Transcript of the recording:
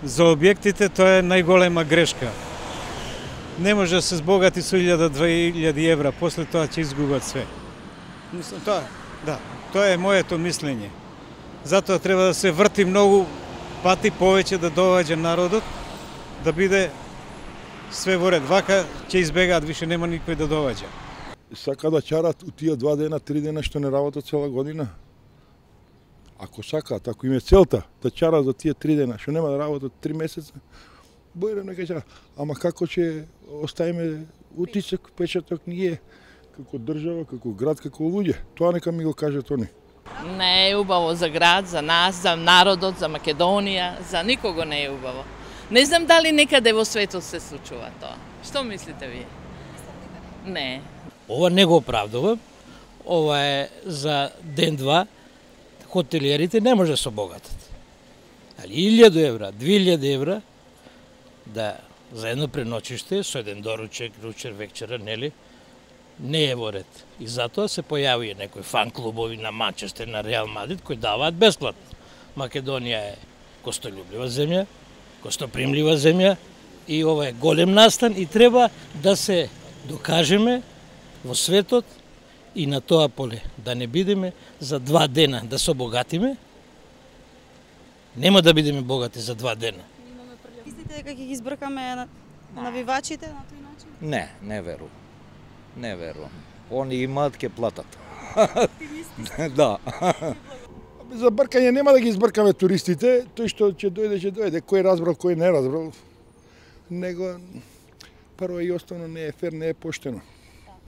За објектите тоа е најголема грешка. Не може да се збогати со 1000-2000 евра, после тоа ќе изгубат све. Мислам, тоа е моето мислење. Затоа треба да се врти многу пати повеќе да доаѓа народот, да биде све во ред. Вака ќе избегаат, више нема никој да доаѓа. Сака да чарат у тие 2 дена, 3 дена што не работат цела година. Ако сакаат, ако им е целта да чарат за тие 3 дена, што нема да работат 3 месеца, бојре нека чарат. Ама како ќе оставиме утисок, печаток ние, како држава, како град, како луѓе? Тоа нека ми го кажат они. Не е убаво за град, за нас, за народот, за Македонија, за никого не е убаво. Не знам дали некаде во светот се случува тоа. Што мислите вие? Не. Ова не го оправдувам. Ова е за ден-два. Хотелиерите не може да се обогатат. Али 1000 евра, 2000 евра да за едно преночиште со еден доручек, ручер, вечера, нели? Не е во ред. И затоа се појави некои фан клубови на Манчестер, на Реал Мадрид кои даваат бесплатно. Македонија е гостолюбива земја, гостопримлива земја и ова е голем настан и треба да се докажеме во светот и на тоа поле, да не бидеме за 2 дена да се обогатиме. Нема да бидеме богати за 2 дена. Мислите дека ќе ги избркаме навивачите на тој начин? Не верувам. Не верувам. Они имаат ке платат. Да. За бркање нема да ги избркаме туристите, тој што ќе дојде, кој разбрал, кој не разбрал. Него прво и основно не е фер, не е поштено.